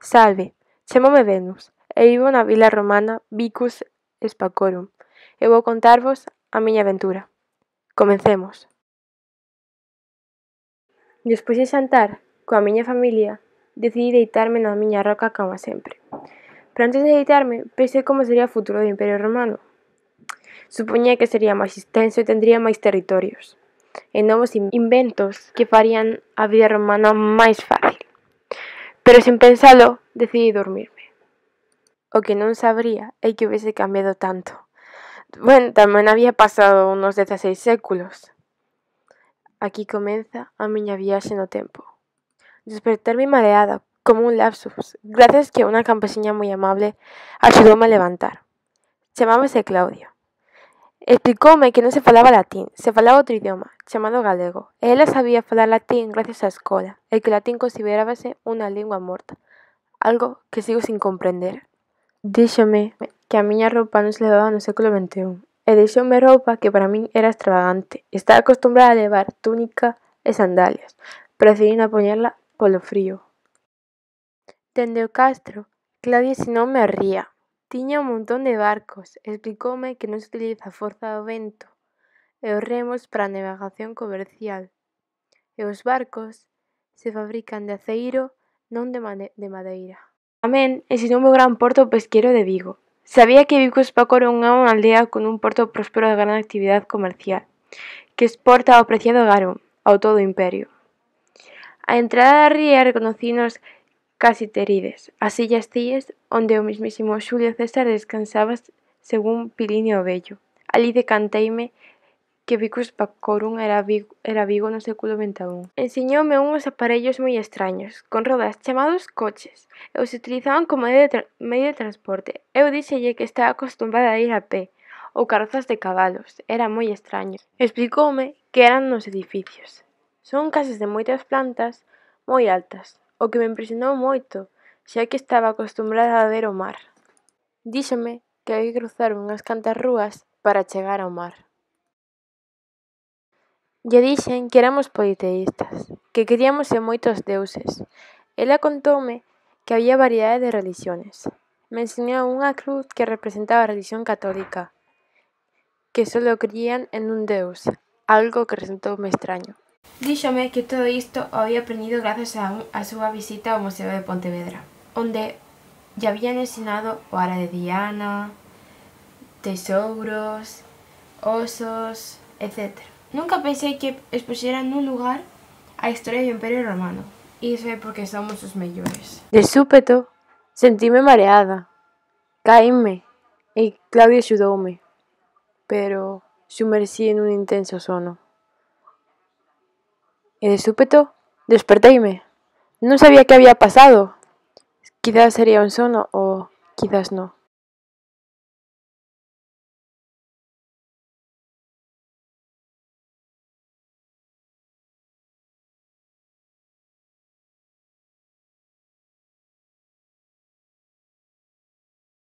Salve, chamome Venus, e vivo na vila romana Vicus Spacorum, e vou contarvos a miña aventura. Comecemos. Despois de xantar coa miña familia, decidí deitarme na miña roca cama sempre. Pero antes de deitarme, pensei como sería o futuro do Imperio Romano. Supoñía que sería máis extenso e tendría máis territorios, e novos inventos que farían a vida romana máis fácil. Pero sen pensalo, decidí dormirme. O que non sabría é que houvese cambiado tanto. Bueno, tamén había pasado unos 16 séculos. Aquí comeza a miña viaxe no tempo. Despertarme mareada, como un lapsus, gracias que unha campesiña moi amable axudoume a levantar. Chamábase Claudia. Explicoume que non se falaba latín, se falaba outro idioma, chamado galego, e ela sabía falar latín gracias á escola, e que o latín considerábase unha lingua morta, algo que sigo sin comprender. Díxome que a miña roupa non se levaba no século XXI, e deixoume roupa que para min era extravagante. Estaba acostumbrada a levar túnica e sandalias, pero decidí non poñerla polo frío. Dende o castro, Claudia ensinoume a ría. Tiña un montón de barcos, explicoume que non se utiliza a forza do vento e os remos para a navegación comercial. E os barcos se fabrican de aceiro, non de madeira. Tamén ensinoume o gran porto pesqueiro de Vigo. Sabía que Vigo Spacorum é unha aldea con un porto próspero de gran actividade comercial, que exporta o preciado garum ao todo o imperio. A entrada da ría reconocinos Casitérides, as illas Cíes, onde o mismísimo Xulio César descansaba según Plinio o Vello. Alí decanteime que Vicus Spacorum era Vigo no século XXI. Ensiñoume uns aparellos moi extraños, con rodas chamados coches, e os utilizaban como medio de transporte. Eu díxelle que estaba acostumbrada a ir a pé, ou carrozas de cabalos, era moi extraño. Explicoume que eran nos edificios. Son casas de moitas plantas, moi altas, o que me impresionou moito, xa que estaba acostumbrada a ver o mar. Díxome que había que cruzar unhas cantas rúas para chegar ao mar. Lle dixen que éramos politeístas, que queríamos ser moitos deuses. Ela contoume que había variedade de relixións. Me ensinou unha cruz que representaba a relixión católica, que solo crían en un deus, algo que resultoume extraño. Díxome que todo isto o había aprendido grazas a súa visita ao Museo de Pontevedra, onde lle habían ensinado o ara de Diana, tesouros, osos, etc. Nunca pensei que expuxeran nun lugar a historia do Imperio Romano. Iso é porque somos os mellores. De súpeto, sentime mareada. Caínme e Claudia axudoume, pero sumerxí nun intenso sono. E de súpeto, desperteime. Non sabía que había pasado. Quizás sería un sono ou quizás non.